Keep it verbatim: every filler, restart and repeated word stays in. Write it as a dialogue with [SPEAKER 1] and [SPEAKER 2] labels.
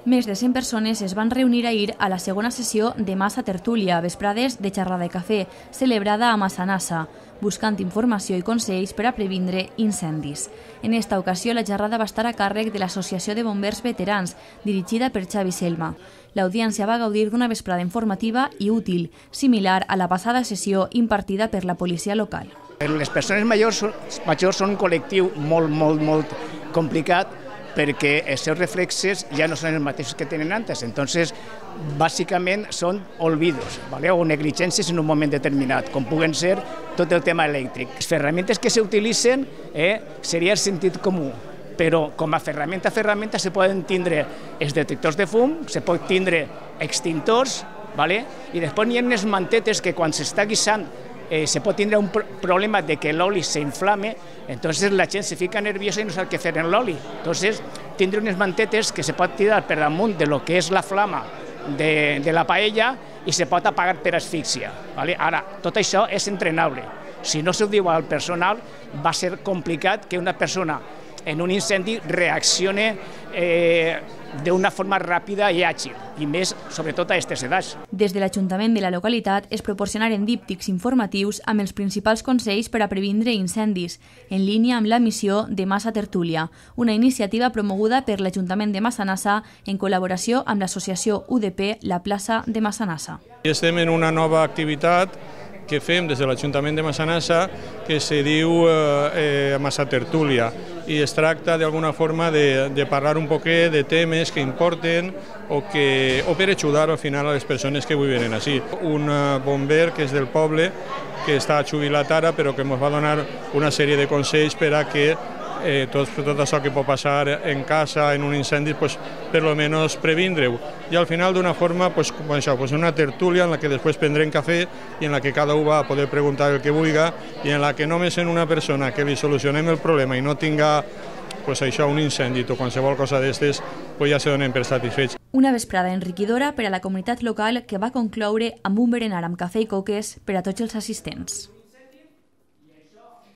[SPEAKER 1] Més de cent persones es van reunir ahir a la segona sessió de Massa Tertúlia, vesprades de xerrada de cafè, celebrada a Massanassa, buscant informació i consells per a previndre incendis. En esta ocasió, la xerrada va estar a càrrec de l'Associació de Bombers Veterans, dirigida per Xavi Selma. L'audiència va gaudir d'una vesprada informativa i útil, similar a la passada sessió impartida per la policia local.
[SPEAKER 2] Les persones majors, majors són un col·lectiu molt, molt, molt complicat, perquè els seus reflexes ja no són els mateixos que tenen antes. Entonces, bàsicament són olvidos, ¿vale? O negligències en un moment determinat, com puguen ser tot el tema elèctric. Les ferramentes que s'utilitzen eh, seria el sentit comú, però com a ferramenta a ferramenta se poden tindre els detectors de fum, se pot tindre extintors, ¿vale? I després hi ha unes mantetes que quan s'està guisant Eh, se pot tindre un problema de que l'oli se inflame, entonces la gent se fica nerviosa i no sap què fer en l'oli. Entonces, tindre unes mantetes que se pot tirar per damunt de lo que és la flama de, de la paella i se pot apagar per asfíxia. ¿Vale? Ara, tot això és entrenable. Si no s'ho diu al personal, va ser complicat que una persona en un incendi reaccione eh, d'una forma ràpida i àgil, i més, sobretot, a aquestes edats.
[SPEAKER 1] Des de l'Ajuntament de la localitat es proporcionaren díptics informatius amb els principals consells per a previndre incendis, en línia amb la missió de Massa Tertúlia, una iniciativa promoguda per l'Ajuntament de Massanassa en col·laboració amb l'associació U D P La Plaça de Massanassa.
[SPEAKER 3] Estem en una nova activitat que fem des de l'Ajuntament de Massanassa que se diu eh, Massa Tertúlia i es tracta d'alguna forma de, de parlar un poquet de temes que importen o, que, o per ajudar al final a les persones que viuen així. Un bomber que és del poble, que està jubilat ara però que ens va donar una sèrie de consells per a que Eh, tot, tot això que pot passar en casa, en un incendi, pues, per lo menos previndre-ho. I al final d'una forma, pues, com això, pues, una tertúlia en la que després prendrem cafè i en la que cada un va a poder preguntar el que vulgui i en la que només en una persona que li solucionem el problema i no tinga pues, això, un incendi o qualsevol cosa d'estes, pues, ja se donen per satisfets.
[SPEAKER 1] Una vesprada enriquidora per a la comunitat local que va concloure amb un berenar amb cafè i coques per a tots els assistents.